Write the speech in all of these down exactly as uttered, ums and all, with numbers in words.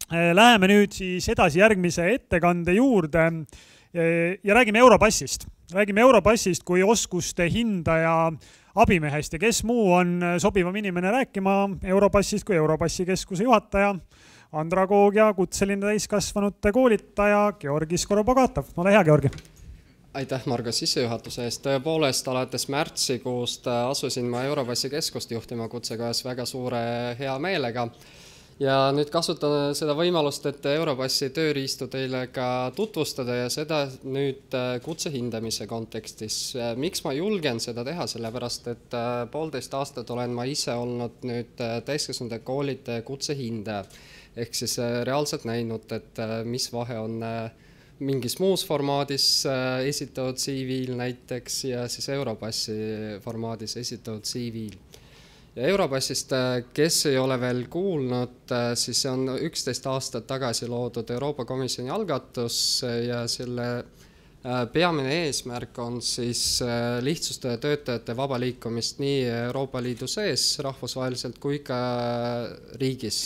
Läheme nüüd siis edasi järgmise ettekande juurde ja räägime Europassist. Räägime Europassist kui oskuste hindaja abimehest ja kes muu on sobivam inimene rääkima Europassist kui Europassi keskuse juhataja, andragoog ja kutseline täiskasvanute koolitaja Georgi Skorobogatov. Ole hea, Georgi. Aitäh, Margo, sissejuhatuse eest. Tõepoolest, alates märtsikuust asusin ma Europassi keskust juhtima kutsekojas väga suure hea meelega. Ja nüüd kasutan seda võimalust, et Europassi tööriistu teile ka tutvustada ja seda nüüd kutse hindamise kontekstis. Miks ma julgen seda teha? Sellepärast, et poolteist aastat olen ma ise olnud nüüd täiskasvanute koolitaja kutse hindaja. Ehk siis reaalselt näinud, et mis vahe on mingis muus formaadis esitatud C V-l näiteks ja siis Europassi formaadis esitatud C V-l. Ja Europassist, kes ei ole veel kuulnud, siis see on üksteist aastat tagasi loodud Euroopa Komisjoni algatus ja selle peamine eesmärk on siis lihtsustada töötajate vaba liikumist nii Euroopa Liidu sees rahvusvaheliselt kui ka riigis,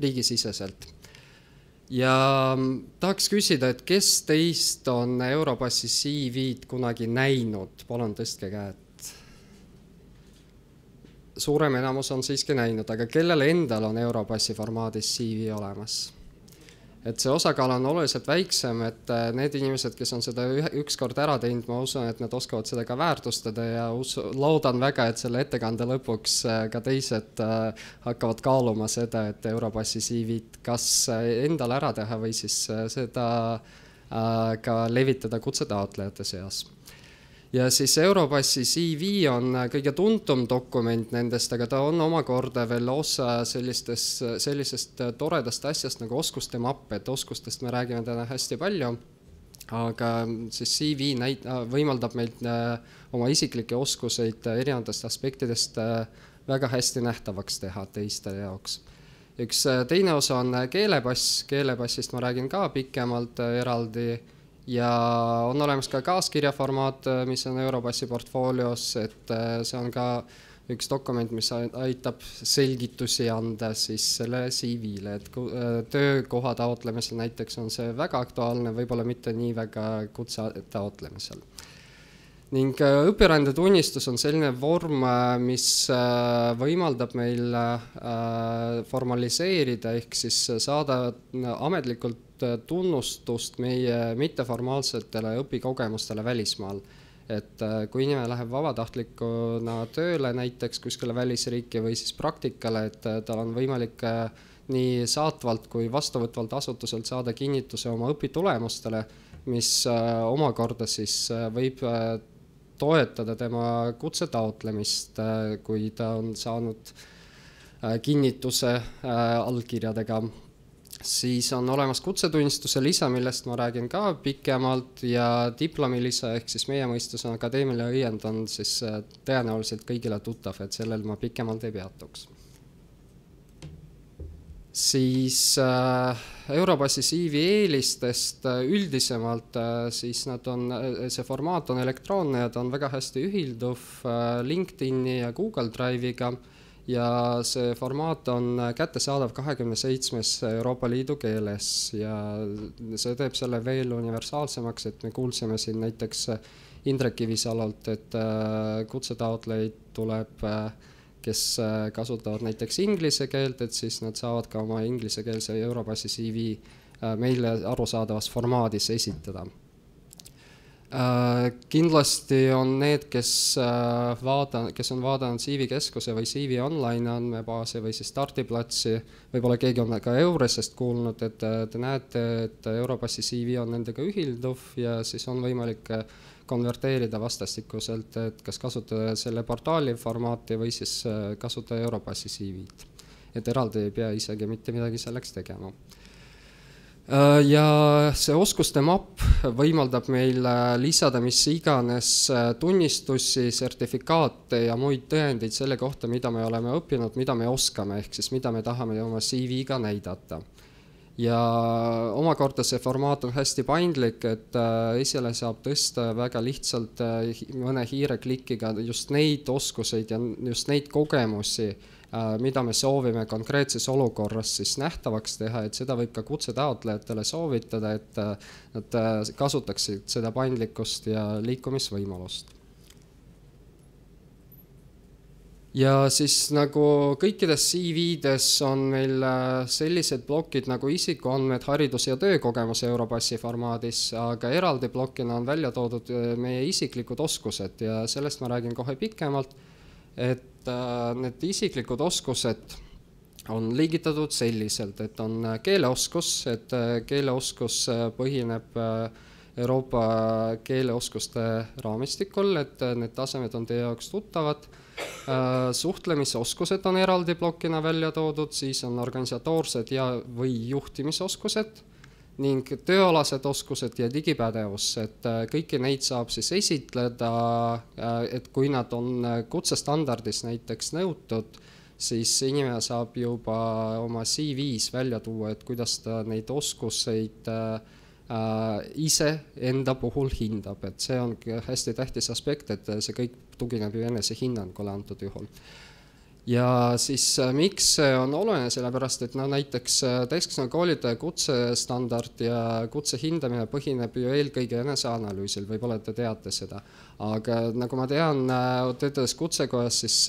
riigisiseselt. Ja tahaks küsida, et kes teist on Europassi C V-d kunagi näinud? Palun tõstke käed. Suurem enamus on siiski näinud, aga kellel endal on Europassi formaadis C V olemas? Et see osakaal on oluliselt väiksem, et need inimesed, kes on seda ükskord ära teinud, ma usun, et nad oskavad seda ka väärtustada ja loodan väga, et selle ettekande lõpuks ka teised hakkavad kaaluma seda, et Europassi C V-d kas endal ära teha või siis seda ka levitada kutsetaotlejate seas. Ja siis Europassi C V on kõige tuntum dokument nendest, aga ta on omakorda veel osa sellistest, sellisest toredast asjast nagu oskuste mapp, et oskustest me räägime täna hästi palju, aga siis C V näit, võimaldab meilt oma isiklikke oskuseid erinevatest aspektidest väga hästi nähtavaks teha teiste jaoks. Üks teine osa on keelepass, keelepassist ma räägin ka pikemalt eraldi, ja on olemas ka kaaskirjaformaat, mis on Europassi portfoolios, et see on ka üks dokument, mis aitab selgitusi anda siis selle C V-le, et töökoha taotlemisel näiteks on see väga aktuaalne, võib-olla mitte nii väga kutse taotlemisel. Ning õpirändetunnistus on selline vorm, mis võimaldab meil formaliseerida ehk siis saada ametlikult tunnustust meie mitteformaalsetele õpikogemustele välismaal. Et kui inimene läheb vabatahtlikuna tööle näiteks kuskile välisriiki või siis praktikale, et tal on võimalik nii saatvalt kui vastuvõtvalt asutuselt saada kinnituse oma õpitulemustele, mis omakorda siis võib toetada tema kutse taotlemist, kui ta on saanud kinnituse allkirjadega. Siis on olemas kutsetunnistuse lisa, millest ma räägin ka pikemalt ja diplomilisa ehk siis meie mõistus on akadeemiline õiend on siis tõenäoliselt kõigile tuttav, et sellel ma pikemalt ei peatuks. Siis Europassi C V eelistest üldisemalt, siis nad on, see formaat on elektroonne ja ta on väga hästi ühilduv LinkedIni ja Google Drive'iga ja see formaat on kättesaadav kahekümne seitsmes Euroopa Liidu keeles ja see teeb selle veel universaalsemaks, et me kuulsime siin näiteks Indrek Kivisalalt, et kutsetaotlejaid tuleb kes kasutavad näiteks inglise keelt, et siis nad saavad ka oma inglisekeelse Europassi C V meile arusaadavas formaadis esitada. Kindlasti on need, kes, vaada, kes on vaadanud C V keskuse või C V online andmebaasi või siis startiplatsi, võib-olla keegi on ka Euresest kuulnud, et te näete, et Europassi C V on nendega ühilduv ja siis on võimalik konverteerida vastastikuselt, et kas kasutada selle portaali formaati või siis kasutada Europassi C V-d. Et eraldi ei pea isegi mitte midagi selleks tegema. Ja see oskuste mapp võimaldab meil lisada mis iganes tunnistusi, sertifikaate ja muid tõendeid selle kohta, mida me oleme õppinud, mida me oskame, ehk siis mida me tahame oma C V-ga näidata. ja omakorda see formaat on hästi paindlik, et esile saab tõsta väga lihtsalt mõne hiireklikiga just neid oskuseid ja just neid kogemusi, mida me soovime konkreetses olukorras siis nähtavaks teha, et seda võib ka kutsetaotlejatele soovitada, et nad kasutaksid seda paindlikkust ja liikumisvõimalust. Ja siis nagu kõikides C V-des on meil sellised plokid nagu isikuandmed, haridus- ja töökogemus Europassi formaadis, aga eraldi blokina on välja toodud meie isiklikud oskused ja sellest ma räägin kohe pikemalt, et need isiklikud oskused on liigitatud selliselt, et on keeleoskus, et keeleoskus põhineb Euroopa keeleoskuste raamistikul, et need tasemed on teie jaoks tuttavad. Suhtlemisoskused on eraldi blokina välja toodud, siis on organisatoorsed ja või juhtimisoskused ning tööalased oskused ja digipädevus, et kõiki neid saab siis esitleda, et kui nad on kutsestandardis näiteks nõutud, siis inimene saab juba oma C V-s välja tuua, et kuidas ta neid oskuseid ise enda puhul hindab, et see on hästi tähtis aspekt, et see kõik tugineb ju enese hinnangule antud juhul. Ja siis miks see on oluline, sellepärast, et no näiteks täiskasvanu koolitaja kutsestandard ja kutse hindamine põhineb ju eelkõige eneseanalüüsil, võib-olla te teate seda. Aga nagu ma tean, töötades kutsekojas, siis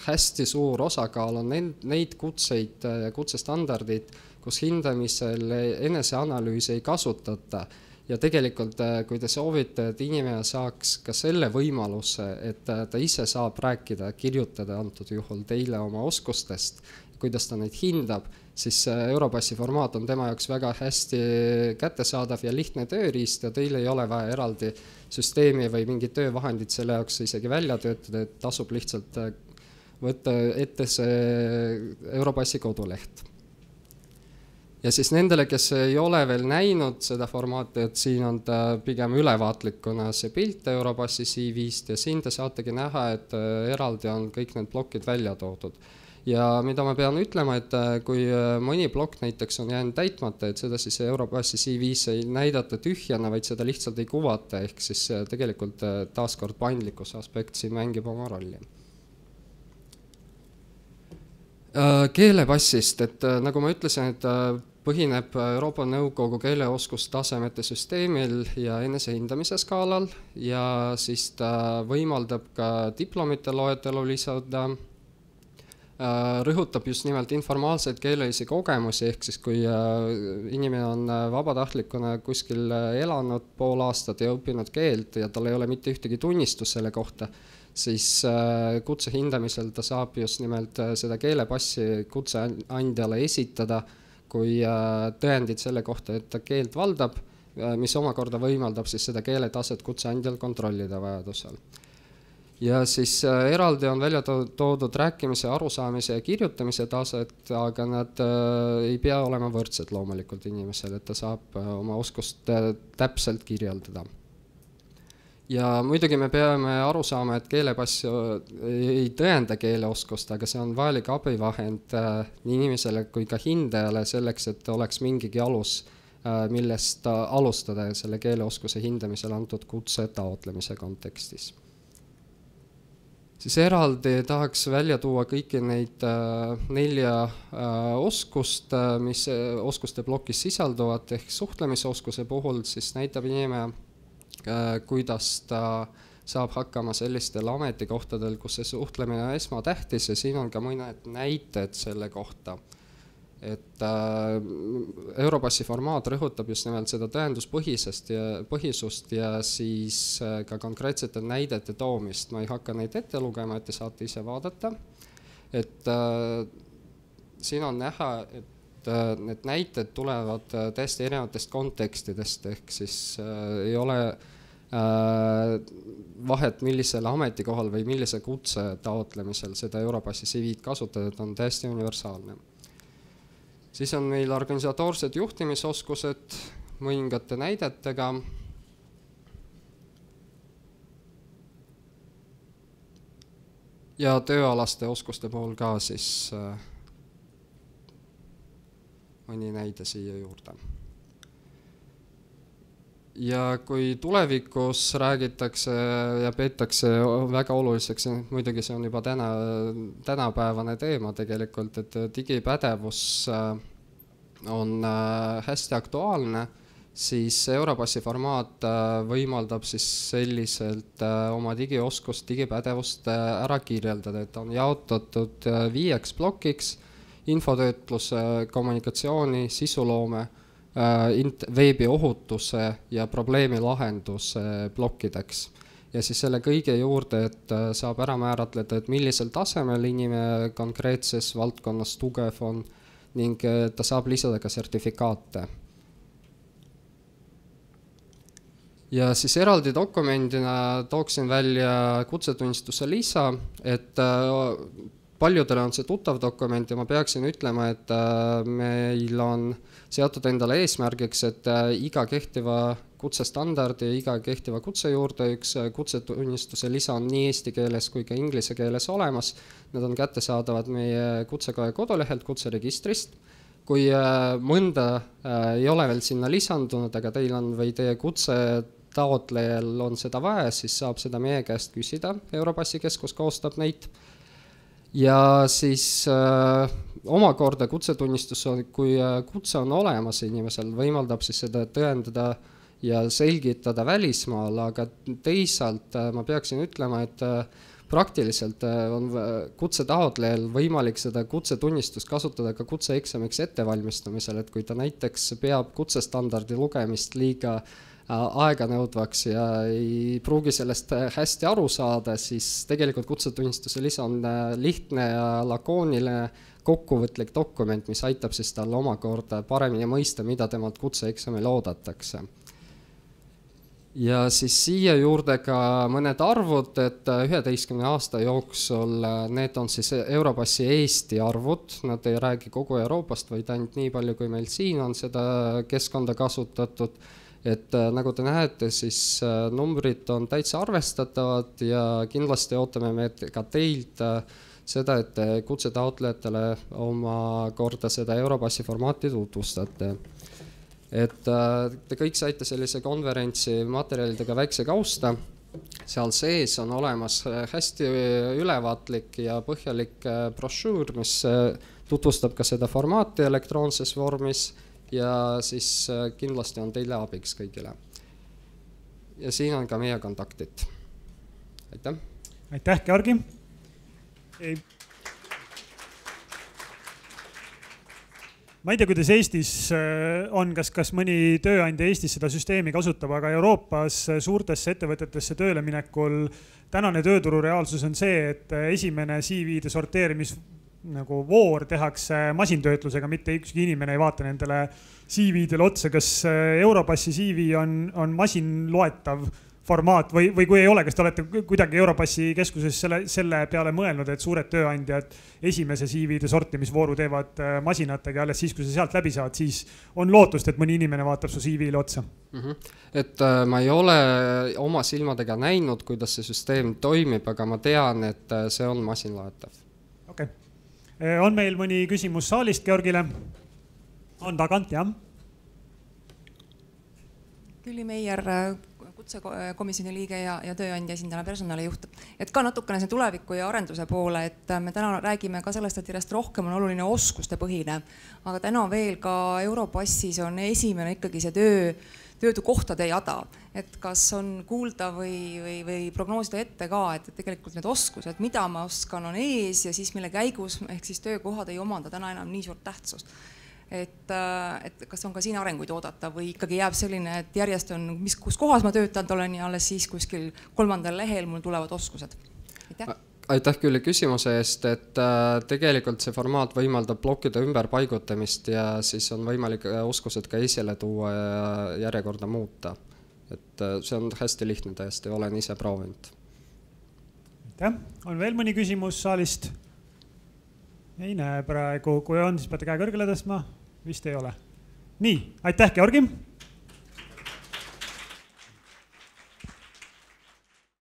hästi suur osakaal on neid kutseid ja kutsestandardid, kus hindamisel eneseanalüüsi ei kasutata. Ja tegelikult, kui te soovite, et inimene saaks ka selle võimaluse, et ta ise saab rääkida, kirjutada antud juhul teile oma oskustest, kuidas ta neid hindab, siis Europassi formaat on tema jaoks väga hästi kättesaadav ja lihtne tööriist ja teil ei ole vaja eraldi süsteemi või mingid töövahendid selle jaoks isegi välja töötada, et tasub lihtsalt võtta ette see Europassi koduleht. Ja siis nendele, kes ei ole veel näinud seda formaati, et siin on ta pigem ülevaatlikuna see pilt Europassi C V-st ja siin te saategi näha, et eraldi on kõik need blokid välja toodud. Ja mida ma pean ütlema, et kui mõni blokk näiteks on jäänud täitmata, et seda siis Europassi C V-s ei näidata tühjana, vaid seda lihtsalt ei kuvata, ehk siis tegelikult taaskord paindlikkuse aspekt siin mängib oma rolli. Keelepassist, et nagu ma ütlesin, et põhineb Euroopa Nõukogu keeleoskustasemete süsteemil ja enesehindamise skaalal ja siis ta võimaldab ka diplomite loetelu lisada, rõhutab just nimelt informaalseid keelelisi kogemusi, ehk siis kui inimene on vabatahtlikuna kuskil elanud pool aastat ja õppinud keelt ja tal ei ole mitte ühtegi tunnistus selle kohta, siis kutse hindamisel ta saab just nimelt seda keelepassi kutseandjale esitada kui tõendid selle kohta, et ta keelt valdab, mis omakorda võimaldab siis seda keeletaset kutseandjal kontrollida vajadusel. Ja siis eraldi on välja toodud rääkimise, arusaamise ja kirjutamise taset, aga nad ei pea olema võrdsed loomulikult inimesel, et ta saab oma oskust täpselt kirjeldada. Ja muidugi me peame aru saama, et keelepass ei tõenda keeleoskust, aga see on vajalik abivahend nii inimesele kui ka hindajale selleks, et oleks mingigi alus, millest alustada selle keeleoskuse hindamisel antud kutse taotlemise kontekstis. Siis eraldi tahaks välja tuua kõiki neid nelja oskust, mis oskuste plokis sisalduvad, ehk suhtlemisoskuse puhul siis näitab inimene, kuidas ta saab hakkama sellistel ametikohtadel, kus see suhtlemine on esmatähtis ja siin on ka mõned näited selle kohta. Et Europassi formaat rõhutab just nimelt seda tõenduspõhisest ja põhisust ja siis ka konkreetsete näidete toomist. Ma ei hakka neid ette lugema, et te saate ise vaadata. Et siin on näha, et need näited tulevad täiesti erinevatest kontekstidest, ehk siis ei ole vahet millisel ametikohal või millise kutse taotlemisel seda Europassi C V-d kasutada, et on täiesti universaalne. Siis on meil organisatoorsed juhtimisoskused mõningate näidetega. Ja tööalaste oskuste puhul ka siis mõni näide siia juurde. Ja kui tulevikus räägitakse ja peetakse väga oluliseks, muidugi see on juba täna, tänapäevane teema tegelikult, et digipädevus on hästi aktuaalne, siis Europassi formaat võimaldab siis selliselt oma digioskust, digipädevust ära kirjeldada, et on jaotatud viieks plokiks: infotöötlus, kommunikatsiooni, sisuloome, veebiohutuse ja probleemi lahenduse plokkideks. Ja siis selle kõige juurde, et saab ära määratleda, et millisel tasemel inimene konkreetses valdkonnas tugev on ning ta saab lisada ka sertifikaate. Ja siis eraldi dokumendina tooksin välja kutsetunnistuse lisa, et paljudele on see tuttav dokument ja ma peaksin ütlema, et meil on seatud endale eesmärgiks, et iga kehtiva kutsestandardi ja iga kehtiva kutse juurde üks kutsetunnistuse lisa on nii eesti keeles kui ka inglise keeles olemas. Need on kättesaadavad meie Kutsekoja kodulehelt, kutseregistrist. Kui mõnda ei ole veel sinna lisandunud, aga teil on või teie kutse taotlejal on seda vaja, siis saab seda meie käest küsida. Europassi keskus koostab neid. Ja siis äh, omakorda kutsetunnistus, kui kutse on olemas inimesel, võimaldab siis seda tõendada ja selgitada välismaal, aga teisalt ma peaksin ütlema, et praktiliselt on kutse taotlejal võimalik seda kutsetunnistust kasutada ka kutseeksamiks ettevalmistamisel, et kui ta näiteks peab kutsestandardi lugemist liiga aega nõudvaks ja ei pruugi sellest hästi aru saada, siis tegelikult kutsetunnistuse lisa on lihtne ja lakooniline kokkuvõtlik dokument, mis aitab siis tal omakorda paremini mõista, mida temalt kutseeksamil oodatakse. Ja siis siia juurde ka mõned arvud, et üheteistkümne aasta jooksul need on siis Europassi Eesti arvud, nad ei räägi kogu Euroopast, vaid ainult nii palju, kui meil siin on seda keskkonda kasutatud. Et nagu te näete, siis numbrid on täitsa arvestatavad ja kindlasti ootame me ka teilt seda, et te kutsetaotlejatele oma korda seda Europassi formaati tutvustate. Et te kõik saite sellise konverentsi materjalidega väikse kausta. Seal sees on olemas hästi ülevaatlik ja põhjalik brošüür, mis tutvustab ka seda formaati elektroonses vormis. Ja siis kindlasti on teile abiks kõigile. Ja siin on ka meie kontaktid. Aitäh! Aitäh, Georgi! Ma ei tea, kuidas Eestis on, kas, kas mõni tööandja Eestis seda süsteemi kasutab, aga Euroopas suurtesse ettevõtetesse tööle minekul tänane tööturu reaalsus on see, et esimene C V-de sorteerimis nagu voor tehakse masintöötlusega, mitte ükski inimene ei vaata nendele C V-dele otsa, kas Europassi C V on, on masinloetav formaat või, või kui ei ole, kas te olete kuidagi Europassi keskuses selle, selle peale mõelnud, et suured tööandjad esimese C V-de sortimisvooru teevad masinatega ja alles siis, kui sa sealt läbi saad, siis on lootust, et mõni inimene vaatab su C V-le otsa? Mm-hmm. Et ma ei ole oma silmadega näinud, kuidas see süsteem toimib, aga ma tean, et see on masinloetav. Okei. Okay. On meil mõni küsimus saalist Georgile? On tagant, jah? Külli Meier, kutsekomisjoni liige ja, ja tööandja esindajana personalijuht. Et ka natukene see tuleviku ja arenduse poole, et me täna räägime ka sellest, et järjest rohkem on oluline oskuste põhine. Aga täna veel ka Europassis on esimene ikkagi see töö, töötukohtade jada. Et kas on kuulda või, või, või prognoosida ette ka, et tegelikult need oskused, mida ma oskan, on ees ja siis mille käigus ehk siis töökohad ei omanda täna enam nii suurt tähtsust. Et, et kas on ka siin arenguid oodata või ikkagi jääb selline, et järjest on, mis, kus kohas ma töötanud olen ja alles siis kuskil kolmandal lehel mul tulevad oskused. Aitäh, Aitäh küll küsimuse eest, et tegelikult see formaat võimaldab plokkide ümberpaigutamist ja siis on võimalik oskused ka esile tuua ja järjekorda muuta. Et see on hästi lihtne täiesti, olen ise proovinud. Aitäh, on veel mõni küsimus saalist? Ei näe praegu, kui on, siis peate käe kõrgele tõstma. Vist ei ole. Nii, aitäh, Georgi!